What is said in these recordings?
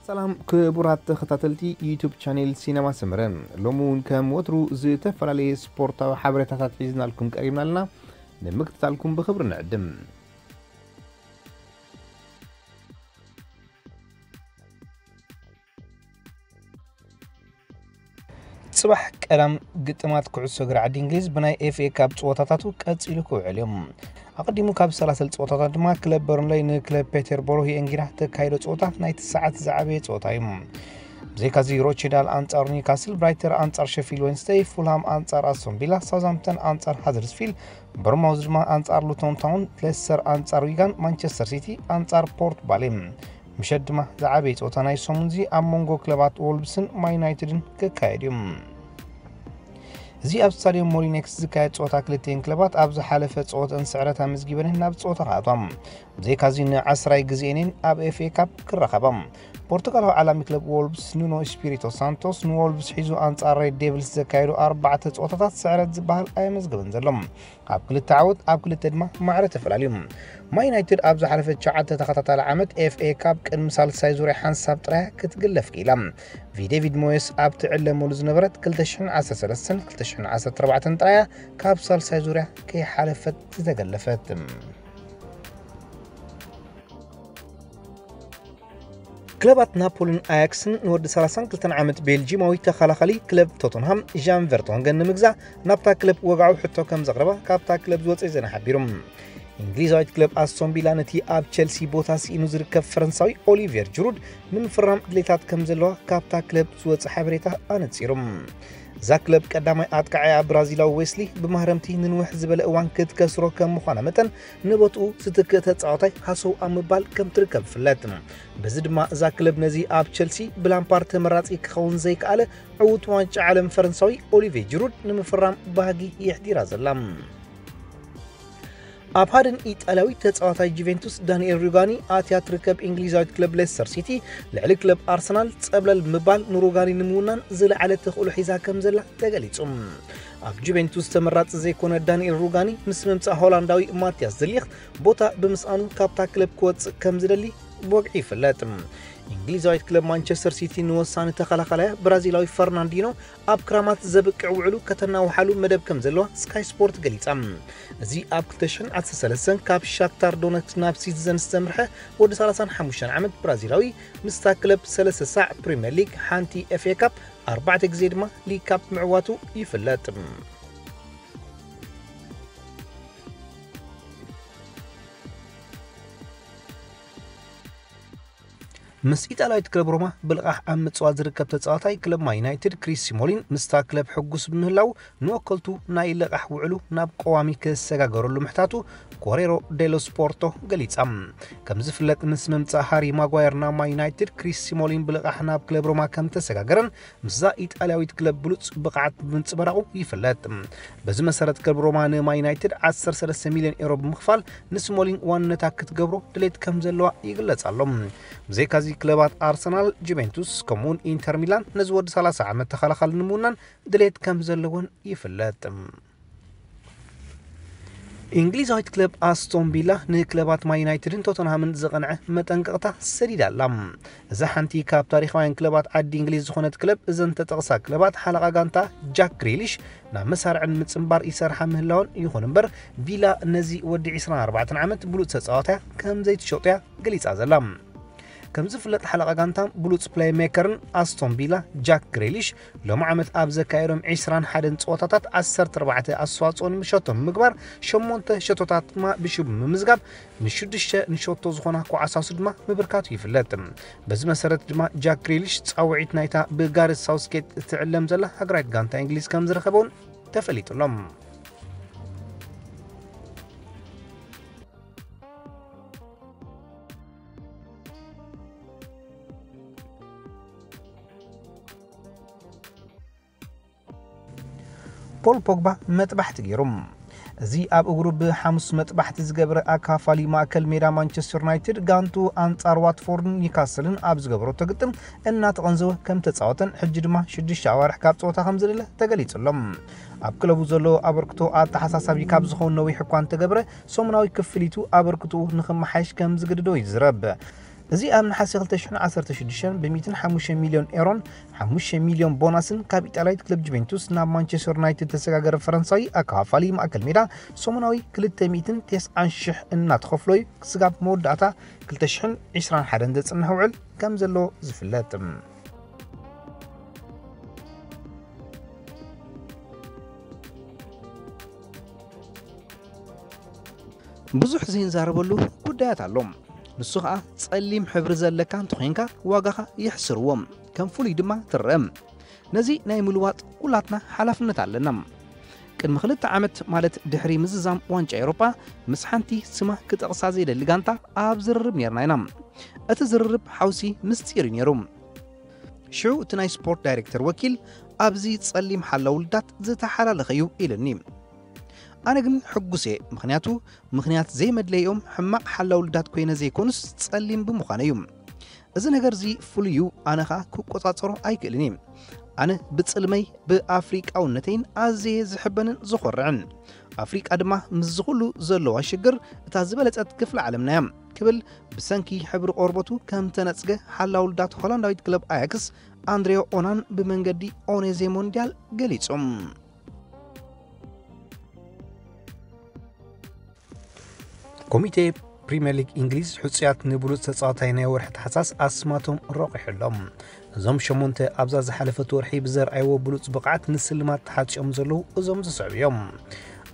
ሰላም ክቡራት ተኸታተልቲ ዩቱብ ቻኔል ሲነማ ሰመረ፣ ሎሚ እውን ከም ወትሩ ዝተፈላለየ ስፖርታዊ ሓበሬታታት ሒዝናልኩም ቀሪብና ኣለና። ንምክትታልኩም ብኽብሪ ንዕድም። ጽባሕ ቀዳም ግጥማት ኩዕሶ እግሪ ዓዲ እንግሊዝ ብናይ ኤፍ ኤ ካፕ ጸወታታቱ ቀጺሉ ክውዕል እዩ። ኣቐዲሙ ካብ ዝሰላሰል ጸወታታት ድማ ክለብ በርንለይ ንክለብ ፔተርቦሮ የእንጊራ ተካይዶ ጸወታ ናይቲ ሰዓት ዝዓበየ ጸወታ እዩ። ብዘይካዚ ሮቼዳል ኣንጻር ኒውካስል፣ ብራይተር ኣንጻር ሸፊልድ ዌንስደይ፣ ፉልሃም ኣንጻር ኣስቶን ቪላ፣ ሳውዝሃምፕተን ኣንጻር ሃደርስፊልድ፣ በርማውዝ ድማ ኣንጻር ሉቶን ታውን፣ ሌስተር ኣንጻር ዊጋን፣ ማንቸስተር ሲቲ ኣንጻር ፖርት ባሌ። ምሸት ድማ ዝዓበየ ጸወታ ናይ ሰሙንዚ ኣብ መንጎ ክለባት ዎልቭስን ማን ዩናይትድን ክካየድ እዩ። እዚ ኣብ ስታድዮም ሞሊኔክስ ዝካየድ ጸወታ ክልቲኤን ክለባት ኣብ ዝሓለፈ ጸወተን ስዕረት ኣመዝጊበን ናብ ጸወታ ክኣትዋ፣ ብዘይካዚ ንዓስራይ ግዜኤን ኣብ ኤፍ ኤ ካፕ ክራኸባ። ፖርቱጋላዊ ዓላሚ ክለብ ዎልቭስ ኑኖ ስፒሪቶ ሳንቶስ ንዎልቭስ ሒዙ ኣንጻር ሬድ ዴቪልስ ዘካየዱ ኣርባዕተ ጸወታታት ስዕረት ዝበሃል ኣየመዝገበን ዘሎ። ኣብ ክልተ ዓወት ኣብ ክልተ ድማ ማዕረ ተፈላልዩ። ማን ዩናይትድ ኣብ ዝሓለፈ ትሽዓተ ተኸታታሊ ዓመት ኤፍ ኤ ካፕ ቅድሚ ሳልሳይ ዙርያ ሓንሳብ ጥራያ ክትግለፍ ክኢላ። ቪ ዴቪድ ሞየስ ኣብ ትዕለመሉ ዝነበረት ክልተ ሽሕን ዓሰርተ ሰለስተን ክልተ ሽሕን ዓሰርተ ኣርባዕተን ጥራያ ካብ ሳልሳይ ዙርያ ከይሓለፈት ዝተገለፈት። ክለባት ናፖሊን ኣያክስን ንወዲ ሰላሳን ክልተን ዓመት ቤልጂማዊ ተኸላኻሊ ክለብ ቶተንሃም ዣን ቨርቶንገን ንምግዛእ ናብታ ክለብ ወግዓዊ ሕቶ ከም ዘቕረባ ካብታ ክለብ ዝወጸ ዜና ሓቢሩ። እንግሊዛዊት ክለብ ኣስቶን ቪላ ነቲ ኣብ ቸልሲ ቦታ ስኢኑ ዝርከብ ፈረንሳዊ ኦሊቬር ጅሩድ ንምፍራም ድሌታት ከም ዘለዋ ካብታ ክለብ ዝወጸ ሓበሬታ ኣነጺሩ። እዛ ክለብ ቀዳማይ ኣጥቃዓያ ብራዚላዊ ዌስሊ ብማህረምቲ ንንውሕ ዝበለ እዋን ክትከስሮ ከም ምዃና መጠን ንቦትኡ ዝትክእ ተጻዋታይ ሃሰው ኣብ ምባል ከም ትርከብ ይፍለጥ። በዚ ድማ እዛ ክለብ ነዚ ኣብ ቸልሲ ብላምፓርድ ተመራጺ ክኸውን ዘይከኣለ ዕዉት ዋንጫ ዓለም ፈረንሳዊ ኦሊቬ ጅሩድ ንምፍራም ባህጊ የሕዲራ ዘላ። ኣብ ሃድን ኢጣልያዊ ተጻዋታይ ጁቬንቱስ ዳንኤል ሩጋኒ ኣትያ ትርከብ እንግሊዛዊት ክለብ ሌስተር ሲቲ ልዕሊ ክለብ ኣርሰናል ጸብለል ምባል ንሩጋኒ ንምውናን ዝለዓለ ተኽእሎ ሒዛ ከም ዘላ ተገሊጹ። ኣብ ጁቬንቱስ ተመራጺ ዘይኮነ ዳንኤል ሩጋኒ ምስ ምምጻእ ሆላንዳዊ ማቲያስ ደሊኽት ቦታ ብምስኣኑ ካብታ ክለብ ክወጽእ ከም ዝደሊ ብወግዒ ይፍለጥ። እንግሊዛዊት ክለብ ማንቸስተር ሲቲ ንወሳኒ ተኸላኻላያ ብራዚላዊ ፈርናንዲኖ ኣብ ክራማት ዘብቅዕ ውዕሉ ከተናውሓሉ መደብ ከም ዘለዋ ስካይ ስፖርት ገሊጻ። እዚ ኣብ ክልተ ሽሕን ዓሰርተ ሰለስተን ካብ ሻክታር ዶነትስ ናብ ሲቲዘንስ ዘምርሐ ወዲ ሰላሳን ሓሙሽተን ዓመት ብራዚላዊ ምስታ ክለብ ሰለስተ ሳዕ ፕሪምየር ሊግ፣ ሓንቲ ኤፍ ኤ ካፕ፣ ኣርባዕተ ግዜ ድማ ሊግ ካፕ ምዕዋቱ ይፍለጥ። ምስ ኢጣልያዊት ክለብ ሮማ ብልቓሕ ኣብ ምጽዋት ዝርከብ ተጻዋታይ ክለብ ማን ዩናይትድ ክሪስ ሲሞሊን ምስታ ክለብ ሕጉስ ብምህላው ንወከልቱ ናይ ልቓሕ ውዕሉ ናብ ቀዋሚ ክሰጋገረሉ ምሕታቱ ኮሬሮ ዴሎ ስፖርቶ ገሊጻ። ከም ዝፍለጥ ምስ ምምጻእ ሃሪ ማጓየር ናብ ማን ዩናይትድ ክሪስ ሲሞሊን ብልቓሕ ናብ ክለብ ሮማ ከም ተሰጋገረን ምስዛ ኢጣልያዊት ክለብ ብሉጽ ብቕዓት ብምንጽብራቑ ይፍለጥ። በዚ መሰረት ክለብ ሮማ ንማን ዩናይትድ ዓሰርተ ሰለስተ ሚልዮን ኤሮ ብምኽፋል ንስሞሊን ዋንነታ ክትገብሮ ድሌት ከም ዘለዋ ይግለጽ ኣሎ። ብዘይካዚ ክለባት ኣርሰናል፣ ጁቬንቱስ ከምኡውን ኢንተር ሚላን ነዚ ወዲ ሰላሳ ዓመት ተኸላኻሊ ንምውናን ድሌት ከም ዘለወን ይፍለጥ። እንግሊዛዊት ክለብ ኣስቶን ቪላ ንክለባት ማን ዩናይትድን ቶተንሃምን ዘቐንዐ መጠንቀቕታ ሰዲዳ ኣላ። እዛ ሓንቲ ካብ ታሪኻውያን ክለባት ዓዲ እንግሊዝ ዝኾነት ክለብ እዘን ተጠቕሳ ክለባት ሓለቓ ጋንታ ጃክ ግሪሊሽ ናብ መሳርዕን ምጽንባር ይሰርሓ ምህላወን ይኹን እምበር ቪላ ነዚ ወዲ ዕስራን ኣርባዕተን ዓመት ብሉጽ ተጻዋታያ ከም ዘይትሸጦያ ገሊጻ ዘላ። ከም ዝፍለጥ ሓለቓ ጋንታን ብሉጽ ፕሌይ ሜከርን ኣስቶን ቪላ ጃክ ግሪሊሽ ሎሚ ዓመት ኣብ ዘካየዶም ዕስራን ሓደን ጸወታታት ዓሰርተ ኣርባዕተ ኣስተዋጽኦ ንምሸቶም ብምግባር ሸሞንተ ሸቶታት ድማ ብሽሙ ብምዝጋብ ንሽዱሽተ ንሸቶ ዝኾና ኮዓሳሱ ድማ ምብርካቱ ይፍለጥ። በዚ መሰረት ድማ ጃክ ግሪሊሽ ጻውዒት ናይታ ብጋሬት ሳውስጌት እትዕለም ዘላ ሃገራዊት ጋንታ እንግሊዝ ከም ዝረኸበውን ተፈሊጡ ኣሎ። ፖል ፖግባ መጥባሕቲ ገይሩ። እዚ ኣብ እግሩ ብሓሙስ መጥባሕቲ ዝገበረ ኣካፋሊ ማእከል ሜዳ ማንቸስተር ዩናይትድ ጋንቱ ኣንጻር ዋትፎርድን ኒውካስልን ኣብ ዝገበረቶ ግጥም እናተቐንዘወ ከም ተጻወተን ሕጂ ድማ ሽዱሽተ ኣዋርሕ ካብ ጸወታ ከም ዝለለ ተገሊጹ ኣሎ። ኣብ ክለቡ ዘለዎ ኣበርክቶ ኣተሓሳሳቢ ካብ ዝኸውን ነዊሕ እኳ እንተገብረ ሰሙናዊ ክፍሊቱ ኣበርክትኡ ንኽመሓየሽ ከም ዝግድዶ ይዝረብ። እዚ ኣብ ነሓሰ ክልተ ሽሕን ዓሰርተ ሽዱሽተን ብ ሚእትን ሓሙሽተ ሚልዮን ኤሮን ሓሙሽተ ሚልዮን ቦናስን ካብ ኢጣልያዊት ክለብ ጁቬንቱስ ናብ ማንቸስተር ዩናይትድ ተሰጋገረ ፈረንሳዊ ኣከፋፋሊ ማእከል ሜዳ ሰሙናዊ ክልተ ሚእትን ተስዓን ሽሕ እናተኸፍሎ እዩ ክስጋብ መወዳእታ ክልተ ሽሕን ዕስራን ሓደን ዘጽንሕ ውዕል ከም ዘሎ ዝፍለጥ። ብዙሕ ዘይንዛረበሉ ጉዳያት ኣሎ። ንሱ ኸኣ ጸሊም ሕብሪ ዘለካ እንተኾይንካ ዋጋኻ የሕስርዎ፣ ከም ፍሉይ ድማ ትረአ። ነዚ ናይ ምልዋጥ ኩላትና ሓላፍነት ኣለና። ቅድሚ ክልተ ዓመት ማለት ድሕሪ ምዝዛም ዋንጫ ኤውሮጳ ምስ ሓንቲ ስማ ክጠቕሳ ዘይደሊ ጋንታ ኣብ ዝርርብ ኔርና ኢና። እቲ ዝርርብ ሓውሲ ምስጢር እዩ ኔሩ። ሽዑ እቲ ናይ ስፖርት ዳይሬክተር ወኪል ኣብዚ ጸሊም ሓላው ልዳት ዝተሓላለኸ እዩ ኢልኒ። ኣነ ግን ሕጉስ እየ፣ ምኽንያቱ ምኽንያት ዘይመድለይኦም ሕማቕ ሓላው ልዳት ኮይነ ዘይኮኑስ ጸሊም ብምዃነ እዩ። እዚ ነገር እዚ ፍሉይ እዩ፣ ኣነ ኸኣ ክቆጻጸሮ ኣይክእልን እየ። ኣነ ብጽልመይ ብኣፍሪቃውነተይን ኣዝየ ዝሕበንን ዝኾርዕን። ኣፍሪቃ ድማ ምስ ዝኹሉ ዘለዋ ሽግር እታ ዝበለጸት ክፍለ ዓለምና እያ ክብል ብሰንኪ ሕብሪ ቆርበቱ ከም ተነጽገ ሓላው ልዳት ሆላንዳዊት ክለብ ኣያክስ ኣንድሬዮ ኦናን ብመንገዲ ኦኔዜ ሞንዲያል ገሊጹ። ኮሚቴ ፕሪምየር ሊግ እንግሊዝ ሕጹያት ንብሉጽ ተጻዋታይ ናይ ወርሒ ታሕሳስ ኣስማቶም ረቑሑ ኣሎ። እዞም ሸሞንተ ኣብዛ ዝሓለፈት ወርሒ ብዘርኣይዎ ብሉጽ ብቕዓት ንስልማት ተሓጽዮም ዘለዉ እዞም ዝስዕቡ እዮም።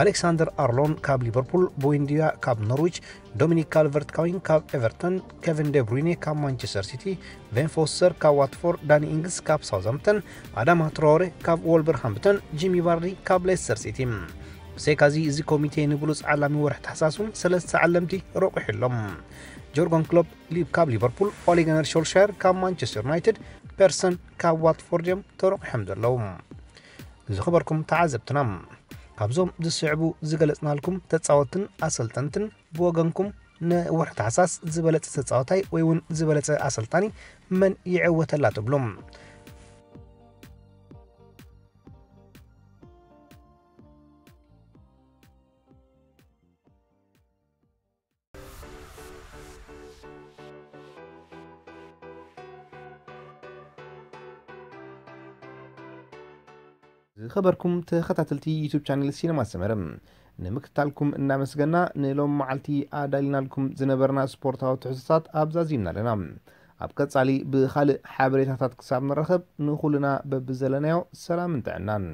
ኣሌክሳንደር ኣርሎን ካብ ሊቨርፑል፣ ቦይንዲያ ካብ ኖርዊች፣ ዶሚኒክ ካልቨርት ካዊን ካብ ኤቨርተን፣ ኬቨን ዴብሩይኔ ካብ ማንቸስተር ሲቲ፣ ቬን ፎስተር ካብ ዋትፎርድ፣ ዳኒ ኢንግስ ካብ ሳውዝሃምፕተን፣ ኣዳማ ትራወሬ ካብ ወልቨርሃምፕተን፣ ጂሚ ቫርዲ ካብ ሌስተር ሲቲ። ብሰይካዚ እዚ ኮሚቴ ንብሉጽ ዓላሚ ወርሒ ታሕሳስ እውን ሰለስተ ዓለምቲ ረቑሑ ኣሎ። ጆርገን ክሎፕ ሊብ ካብ ሊቨርፑል፣ ኦሌ ጉናር ሾልሻየር ካብ ማንቸስተር ዩናይትድ፣ ፐርሰን ካብ ዋትፎርድ እዮም ተረቑሖም ዘለዉ። ዝኸበርኩም ተዓዘብትና፣ ካብዞም ዝስዕቡ ዝገለጽናልኩም ተጻወትን ኣሰልጠንትን ብወገንኩም ንወርሒ ታሕሳስ ዝበለጸ ተጻዋታይ ወይ እውን ዝበለጸ ኣሰልጣኒ መን ይዕወተላ ትብሉ? ዝኸበርኩም ተኸታተልቲ ዩቱብ ቻነል ሲነማ ሰመረ፣ ንምክትታልኩም እናመስገና፣ ንሎም መዓልቲ ኣዳሊናልኩም ዝነበርና ስፖርታዊ ትሕዝቶታት ኣብዛ ዚምና ኣለና። ኣብ ቀጻሊ ብኻልእ ሓበሬታታት ክሳብ ንራኸብ፣ ንኹልና በብዘለናዮ ሰላምን ጥዕናን።